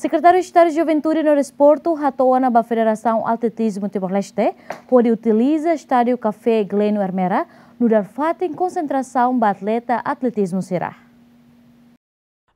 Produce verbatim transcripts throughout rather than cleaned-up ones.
Sekretáriu Estadu Juventude no Desportu hato'o ona ba Federasaun Atletizmu Timor-Leste hodi utiliza Estádiu Kafé Gleno Ermera nu'udar fatin konsentrasaun ba atleta atletizmu sira.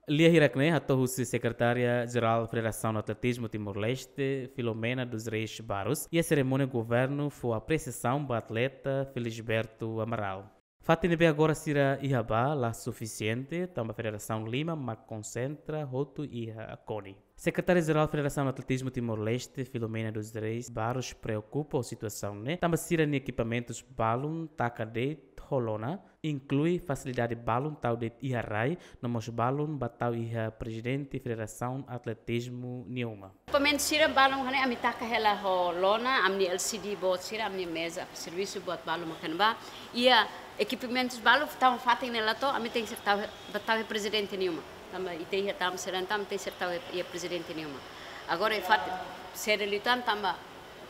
Lia hirak-ne'e hato'o husi Sekretária Jerál Federasaun Atletizmu Timor-Leste, Filomena dos Reis Barros, iha serimónia governu fó apresiasaun ba atleta Felisberto Amaral. Fatin ne'ebé agora sira iha ba la sufisiente, tanba federasaun lima mak konsentra hotu iha Koni. Sekretária Jerál Federasaun Atletizmu Timor-Leste, Filomena dos Reis Barros, preokupa ho situasaun ne'e, tanba sira-nia ekipamentus balun taka de'it ho lona, inklui fasilidade balun tau de'it iha rai, no mós balun ba tau iha prezidente Federasaun Atletizmu nia uma. Ekipamentu sira balun hanesan ami taka hela ho lona, ami-nia L C D boot sira, ami-nia meza servisu boot balun mak iha ne'ebá. Iha ekipamentus balun, tanba fatin ne'e la to'o, ami tenke ser tau, ba tau iha prezidente nia uma. Tanba ita iha tama sira, tanba tenke ser tau iha prezidente nia uma. Agora iha fatin sira liután tanba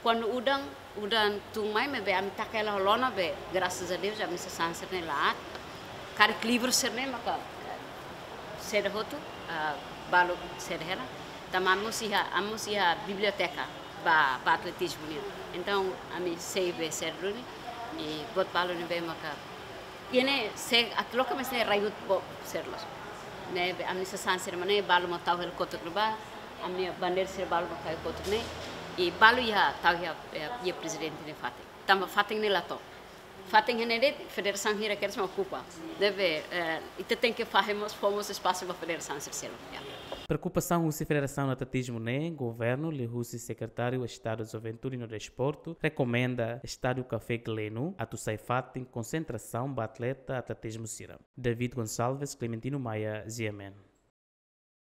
kuandu udan, udan tun mai maibé ami taka hela ho lona be, graças a Deus, ami sasán sira-ne'e la aat. Karik livru sira-ne'e maka, eh, seda hotu, ah, balu seda hela. Tanba ami mós iha, ami mós iha biblioteka ba, ba atletizmu nian. Entaun, ami sei be seda duni, i buat balu ne'ebé maka, iha ne'e sei, atu loke maibé ne'e rai hotu boot sira loos. Ne'ebé ami sasán sira mak ne'e, balu mak tau hela kotuk ne'ebá, ami-nia bandeira sira balu mak tau iha kotuk ne'e, i balu iha tau iha, iha, iha prezidente nia fatin. Tanba fatin ne'e la to'o. Fatin ne'e de'it federasaun hira kedas mak okupa. Ne'ebé, eh, ita tenke fahe mós, fó mós espasu ba federasaun sira seluk. Ya. Preokupasaun husi Federasaun Atletizmu ne'e, governu liuhusi Sekretáriu Estadu Juventude no Desportu rekomenda Estádiu Kafé Gleno atu sai fatin konsentrasaun ba atleta atletizmu sira. David Gonçalves, Clementino Maia, G M N.